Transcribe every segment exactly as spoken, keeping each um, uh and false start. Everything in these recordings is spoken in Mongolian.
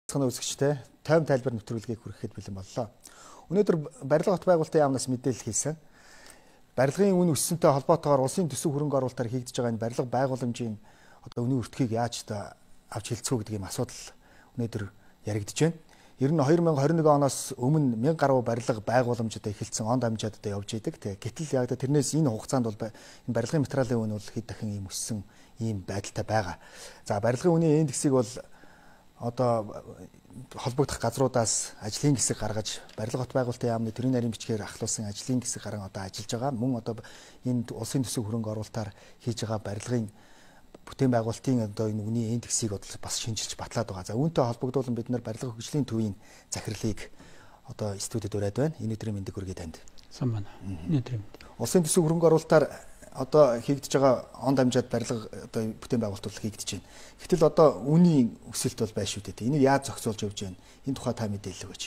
Цэцгэн үзэгчтэй тайван тайлбар нэвтрүүлгийг хүрэхэд бэлэн боллоо. Өнөөдөр барилга хот байгуулалтын яамнаас мэдээлэл хийсэн. Барилгын үн өссөнтэй холбоотойгоор улсын төсөв хөрөнгө оруулалтаар хийгдэж байгаа энэ барилга байгууламжийн одоо үнийн өртгийг яаж та авч хэлцүү гэдэг юм асуудал өнөөдөр яригдж байна. Ер нь хоёр мянга хорин нэг оноос өмнө мянга гаруй барилга байгууламж одоо эхэлсэн он дамжаад одоо явж идэг. Гэтэл яг тэрнээс энэ хугацаанд бол энэ барилгын материалын үн бол хэд дахин ийм өссөн ийм байдалтай байгаа. За барилгын үнийн индексийг бол одоо холбогдох газруудаас ажлын хэсэг гаргаж барилга хот байгуулалтын яамны төрийн нарийн бичгээр ахлуулсан ажлын хэсэг гарan одоо ажиллаж байгаа. Мөн одоо энэ улсын төсөв хөрөнгө оруулалтаар хийж байгаа барилгын бүтээн байгуулалтын одоо энэ үнийн индексийг бас шинжилж батлаад байгаа. За үүнтэй холбогдуулан бид нар барилга хөгжлийн төвийн захирлыг одоо студид ураад байна. Энэ өдрийн мэндийг хүргэе танд. Сан байна. Энэ өдрийн мэнд. Улсын төсөв хөрөнгө оруулалтаар одоо хийгдэж байгаа он дамжаад барилга одоо бүтээн байгуулалт хийгдэж байна. Гэтэл одоо үнийн өсөлт бол байна шүү дээ. Энийг яаж зохицуулж явж байна? Энэ тухай та мэдээлэл өгөөч.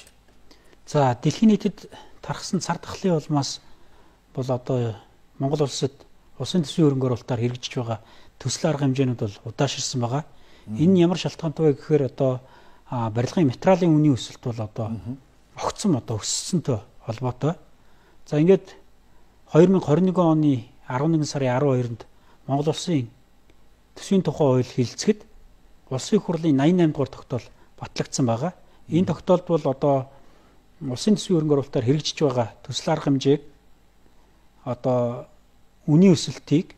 За дэлхийн нийтэд тархсан цар тахлын улмаас бол одоо Монгол улсад улсын төсвийн хөрөнгө оруулалтаар хэрэгжиж байгаа төсөл арга хэмжээнүүд бол удаашрсан байгаа. Энэ нь ямар шалтгаантай вэ гэхээр одоо барилгын материалын үнийн өсөлт бол одоо огцсон одоо өссөнтэй холбоотой. За ингээд хоёр мянга хорин нэгэн оны арван нэгэн сарын арван хоёрнд Монгол улсын төсвийн тухай хууль хэлэлцэхэд улсын хурлын найман наймд дугаар тогтоол батлагдсан байгаа. Энэ тогтоолд бол одоо улсын төсвийн хөрөнгө оруулалтаар хэрэгжиж байгаа төсөл арга хэмжээг одоо үнийн өсөлтийг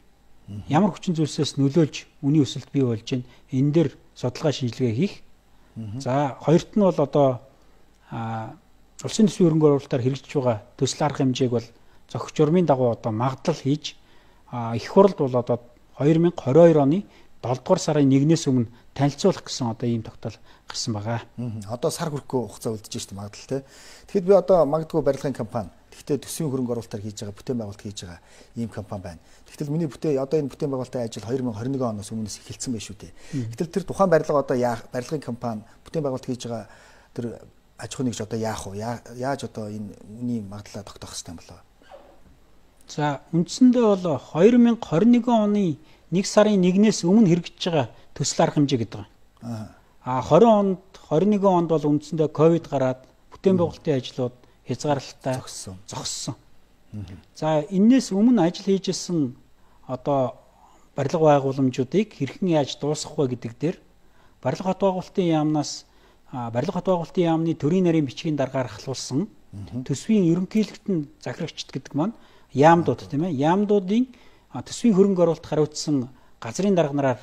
ямар хүчин зүйлсээс нөлөөлж үнийн өсөлт бий болж байна. Энэ дээр судалгаа шинжилгээ хийх. За хоёрт нь бол одоо улсын төсвийн хөрөнгө оруулалтаар хэрэгжиж байгаа төсөл арга хэмжээг бол зохиц журмын дагуу одоо магадлал хийж их хурлд бол одоо хоёр мянга хорин хоёр оны долдугаар сарын нэгнээс өмнө танилцуулах гэсэн одоо ийм тогтоол гарсан байгаа. Одоо сар хүрэхгүй хугацаа үлдэж штэ магадлал те. Тэгэхэд би одоо магадгүй барилгын компани тэгтээ төсвийн хөрөнгө оруулалтаар хийж байгаа бүтээн байгуулалт хийж байгаа ийм компани байна. Тэгтэл миний бүтээн одоо энэ бүтээн байгуулалтын ажил хоёр мянга хорин нэгэн оноос өмнөөс эхэлсэн байх шүү дээ. Гэтэл тэр тухайн барилга одоо барилгын компани бүтээн байгуулалт хийж байгаа тэр аж ахуй нэгж одоо яах вэ? Яаж одоо энэ үний магадлалаа тогтоох хэрэгтэй юм болоо? За үндсэндээ бол хоёр мянга хорин нэгэн оны нэг сарын нэгнээс өмнө хэрэгжиж байгаа төсөл арга хэмжээ гэдэг байна. Аа хорин онд хорин нэгэн онд бол үндсэндээ ковид гараад бүтээн байгуулалтын ажлууд хязгаарлалтаа зогссон. зогссон. За энээс өмнө ажил хийжсэн одоо барилга байгууламжуудыг хэрхэн яаж дуусгах вэ гэдэг дээр барилга хот байгуулалтын яамнаас барилга хот байгуулалтын яамны төрийн нарийн бичгийн дараагаар ахлуулсан төсвийн ерөнхийлөгтөн захирагчд гэдэг маань яамдууд тийм ээ яамдуудын төсвийн хөрөнгө оруулалт хариуцсан газрын дарга нараар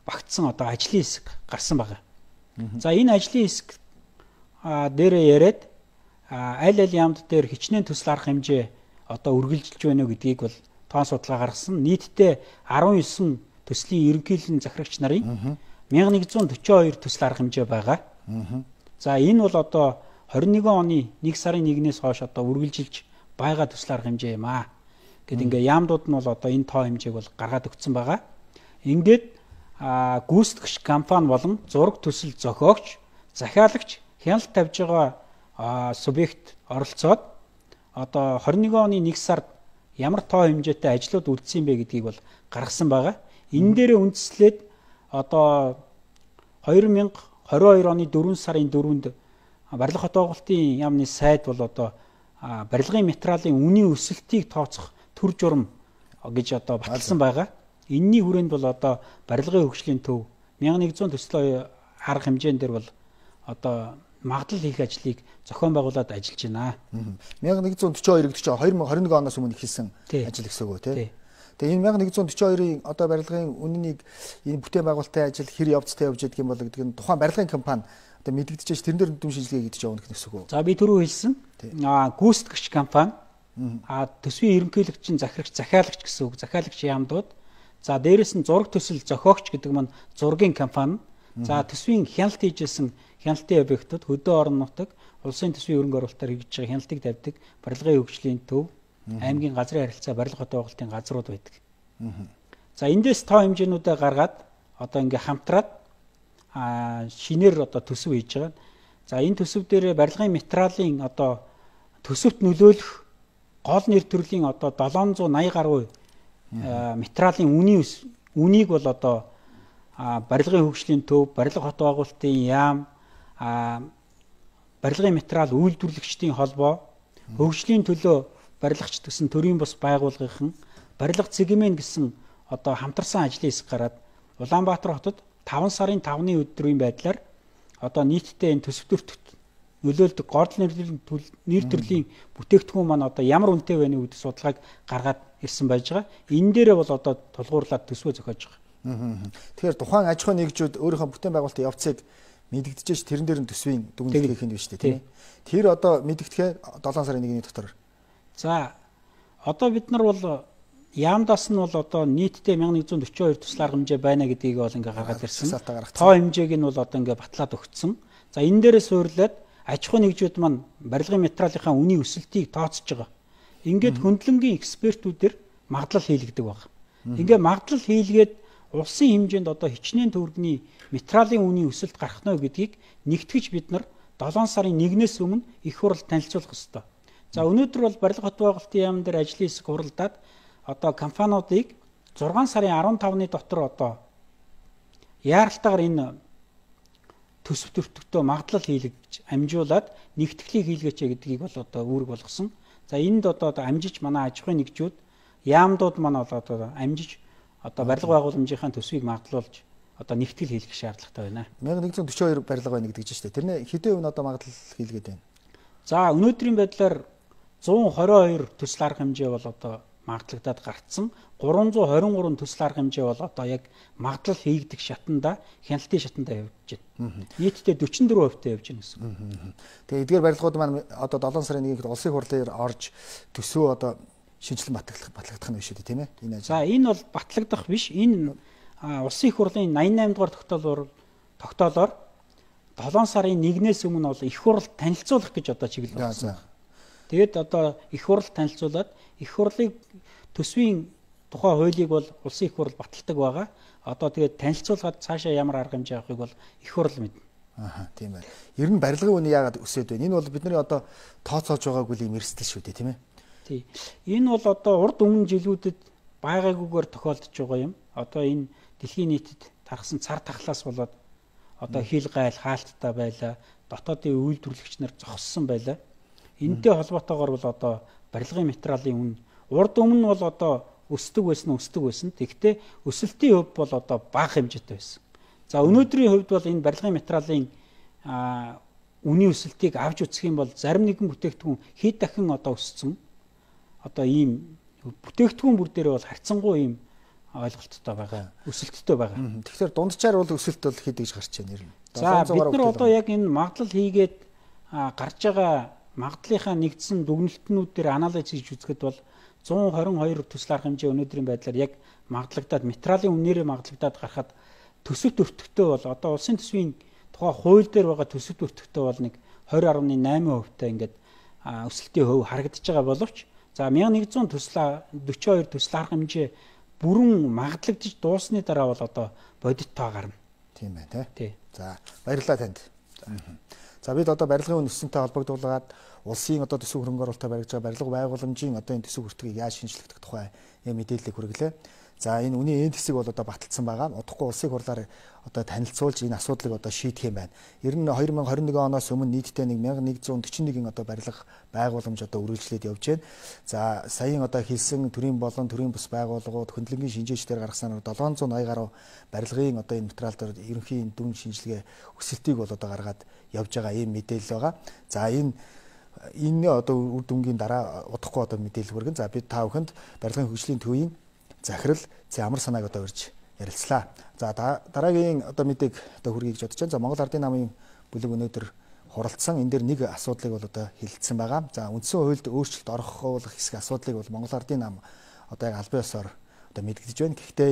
багтсан одоо ажлын хэсэг гарсан байгаа. За энэ ажлын хэсэг дээрээ яриад аль аль яамд дээр хичнээн төсөл арга хэмжээ одоо үргэлжилж байна уу гэдгийг бол тоон судалгаа гаргасан. Нийтдээ арван девять төслийн ерөнхийлөгчийн захирагч нарын мянга нэгдүгээр төрийн хоёр төсөл арга хэмжээ байгаа. За энэ бол одоо хорин нэгэн оны нэг сарын нэгнээс хойш одоо үргэлжилж байгаа төсөл арга хэмжээ юм аа. Гэт ингээ яамдууд нь бол одоо энэ тоо хэмжээг бол гаргаад өгсөн байгаа. Ингээд гүйцэтгэгч компани болон зураг төсөл зохиогч, захиалагч хяналт тавьж байгаа субъект оролцоод одоо хорин нэгэн оны нэг сард ямар тоо хэмжээтэй ажлууд үлдсэн бэ гэдгийг бол гаргасан байгаа. Энэ дээрээ үндэслээд одоо хоёр мянга хорин хоёр оны дөрвөн сарын дөрөвнд барилга хот байгуулалтын яамны сайд бол одоо барилгын материалын үнийн өсөлтийг тооцох төр журам гэж одоо баталсан байгаа. Энэний хүрээнд бол одоо барилгын хөгжлийн төв мянга нэгдүгээр төслийн арга хэмжээн дээр бол одоо магадлал хийх ажлыг зохион байгуулад ажиллаж байна. мянга нэгдүгээр төрийн хоёр гэдэг чинь хоёр мянга хорин нэгэн оноос өмнө эхэлсэн ажил гэсэн үг үү те. Тэгээ энэ мянга нэгдүгээр төрийн хоёрын одоо барилгын үнэнийг энэ бүтээн байгуулалтын ажил хэр явцтай явж байдаг юм бол гэдэг нь тухайн барилгын компани одоо мэдэгдэж тэрэн дээр дүн шинжилгээ хийгдэж явна гэх нэсэг үү? За би түрүү хэлсэн. Аа гүйцэтгэгч компани а төсвийн ерөнхийлөгчийн захирагч захиалагч гэсэн үг. Захиалагч яамдууд. За дээрэс нь зураг төсөл зохиогч гэдэг маань зургийн компани. За төсвийн хяналт хийжсэн хяналтын объектууд хөдөө орон нутаг улсын төсвийн хөрөнгө оруулалтаар хийж байгаа хяналтыг тавьдаг барилгын хөгжлийн төв аймгийн газрын харилцаа барилга хот байгуулалтын газрууд байдаг. За эндээс тоо хэмжээнүүдээ гаргаад одоо ингээ хамтраад а шинээр одоо төсөв хийж байгаа. За энэ төсөв дээр барилгын материалын одоо төсөвт нөлөөлөх гол нэр төрлийн одоо долоон зуун наяа гаруй материалын үнийн үнийг бол одоо барилгын хөгжлийн төв, барилга хот байгуулалтын яам, а барилгын материал үйлдвэрлэгчдийн холбоо, хөгжлийн төлөө барилгач гэсэн төрийн бус байгууллагын барилга цэгмэн гэсэн одоо хамтарсан ажлын хэсэг гараад Улаанбаатар хотод таван сарын тавны өдрийн байдлаар одоо нийтдээ энэ төсөв төртөд нөлөөлдөг гол нэр төрлийн бүтээгдэхүүн маань одоо ямар үнэтэй байна гэдэг судалгааг гаргаад ирсэн байж байгаа. Энэ дээрээ бол одоо тулгуурлаад төсвөө зохиож байгаа. Тэгэхээр тухайн аж ахуйн нэгжүүд өөрийнхөө бүтээн байгуулалтын явцыг мэдэгдэж тэрэн дээр нь төсвийн дүгнэлт хийх нь биш үү тийм ээ. Тэр одоо мэдэгдэхээ долоон сарын нэгний дотор. За одоо бид нар бол яамдаас нь бол одоо нийтдээ мянга нэгдүгээр дөрвөн хоёр туслаар хэмжээ байна гэдгийг бол ингээ гаргаад ирсэн. Тоо хэмжээг нь бол одоо ингээ батлаад өгцсөн. За энэ дээрээ суурлаад аж ахуйн нэгжүүд маань барилгын материалынхаа үнийн өсөлтийг тооцож байгаа. Ингээд хөндлөнгийн экспертүүдээр магадлал хийлгдэг байна. Ингээ магадлал хийлгээд улсын хэмжээнд одоо хичнээн төгрөгийн материалын үнийн өсөлт гарах нь гэдгийг нэгтгэж бид нар долоон сарын нэгнээс өмнө их хурал танилцуулах ёстой. За өнөөдөр бол барилга хот байгуулалтын яам дээр ажлын хэсэг хуралдаад одоо компаниудыг зургаан сарын арван тавны дотор одоо яаралтайгаар энэ төсөв төртөгтөө магадлал хийлгэж амжуулаад нэгтгэлийг хийлгээч гэдгийг бол одоо үүрэг болгосон. За энд одоо амжиж манай аж ахуйн нэгжүүд яамдууд маань одоо амжиж одоо барилга байгууламжийнхаа төсвийг магадлуулж одоо нэгтгэл хийлгэх шаардлагатай байна. мянга нэгдүгээр дөрвөн хоёр барилга байна гэдэг чинь шүү дээ. Тэрний хэдэн хувь нь одоо магадлал хийлгээд байна? За өнөөдрийн байдлаар зуун хорин хоёр төсөл арга хэмжээ бол одоо магадлагдаад гарцсан. гурван зуун хорин гурван төсөл арга хэмжээ бол одоо яг магадлал хийгдэх шатанда, хяналтын шатанда явж байна. Нийтдээ дөрвөн дөрвөн хувьтай явж байна гэсэн. Тэгээ эдгээр барилгууд маань одоо долоон сарын нэгнд улсын хурлаар орж төсөө одоо шинжилэн батлагдах батлагдах нь биш үү тийм ээ? Энэ ажил. За энэ бол батлагдах биш. Энэ улсын их хурлын восемнадцать дугаар тогтоолоор тогтоолоор долоон сарын нэгнээс өмнө бол их хурл танилцуулах гэж одоо чиглэл болсон. Тэгээд одоо их хурл танилцуулаад их хурлыг төсвийн тухай хуулийг бол улсын их хурл баталдаг байгаа. Одоо тэгээд танилцуулгаад цаашаа ямар арга хэмжээ авахыг бол их хурл мэднэ. Аа тийм байна. Ер нь барилгын үний яагаад өсөд байна? Энэ бол бидний одоо тооцоолж байгаагүй юм эрсдэл шүү дээ тийм ээ? Тий. Энэ бол одоо урд өмнө жилүүдэд байгаагүйгээр тохиолдож байгаа юм. Одоо энэ дэлхийн нийтэд тархсан цар тахлаас болоод одоо хил гайл хаалттай байлаа. Дотоодын үйлдвэрлэгч нар зогссон байлаа. Энэтэй холбоотойгоор бол одоо барилгын материалын үн урд өмнө бол одоо өсдөг байсан өсдөг байсан. Тэгвэл өсөлтийн хувь бол одоо бага хэмжээтэй байсан. За өнөөдрийн хувьд бол энэ барилгын материалын үнийн өсөлтийг авч үзэх юм бол зарим нэгэн бүтээгдэхүүн хэд дахин одоо өссөн. Одоо ийм бүтээгдэхүүн бүр дээрээ бол харьцангуй ийм ойлголттой байгаа. Өсөлттэй байгаа. Тэгэхээр дунджаар бол өсөлт бол хэд гэж гарч байна нэр нь. За бид нар одоо яг энэ магадлал хийгээд гарч байгаа магадлалынхаа нэгдсэн дүгнэлтнүүд дээр анализ хийж үзэхэд бол зуун хорин хоёр төсөл арга хэмжээ өнөөдрийн байдлаар яг магадлагдаад материалын үнээрээ магадлагдаад гарахад төсөв төртөгтөө бол одоо улсын төсвийн тухай хууль дээр байгаа төсөв төртөгтөө бол нэг двадцать гаруй восемь хувьтай ингээд өсөлтийн хөв харагдаж байгаа боловч за мянга нэгдүгээр төсөл дөрвөн хоёр төсөл арга хэмжээ бүрэн магадлагдж дуусны дараа бол одоо бодит тоо гарна. Тийм байна тий. За баярлалаа танд. За бид одоо барилгын үн өссөнтэй холбогдуулаад улсын одоо төсөв хөрөнгө оруулалтаар барьж байгаа барилга байгууламжийн одоо энэ төсөв хүртгийг яаж шинжлэхдэх тухай юм мэдээлэл хүргэлээ. За энэ үнийн энд хэсэг бол одоо баталсан байгаа. Удахгүй улсын хурлаар одоо танилцуулж энэ асуудлыг одоо шийдэх юм байна. Ер нь две тысячи двадцать one оноос өмнө нийтдээ нэг мянга нэгдүгээр forty-one одоо барилга байгууламж одоо үргэлжлээд явж байна. За саяын одоо хэлсэн төрийн болон төрийн бус байгууллагууд хөндлөнгийн шинжээчдээр гаргасан seven eighty гаруй барилгын одоо энэ материал дээр ерөнхийн дүн шинжилгээ өсөлтийг бол одоо гаргаад явж байгаа ийм мэдээлэл байгаа. За энэ энэ одоо үр дүнгийн дараа удахгүй одоо мэдээлэл хүргэн. За бид та бүхэнд барилгын хөгжлийн төвийн захирал зэ амар санааг одоо урьж ярилцлаа. За дараагийн одоо мэдээг одоо хүргэе гэж бодож байна. За Монгол Ардын намын бүлэг өнөөдөр хуралдсан. Энэ дээр нэг асуудлыг бол одоо хэлэлцсэн байгаа. За үндсэн хуульд өөрчлөлт орохуулах хэсэг асуудлыг бол Монгол Ардын нам одоо яг албан ёсоор одоо мэдгдэж байна. Гэхдээ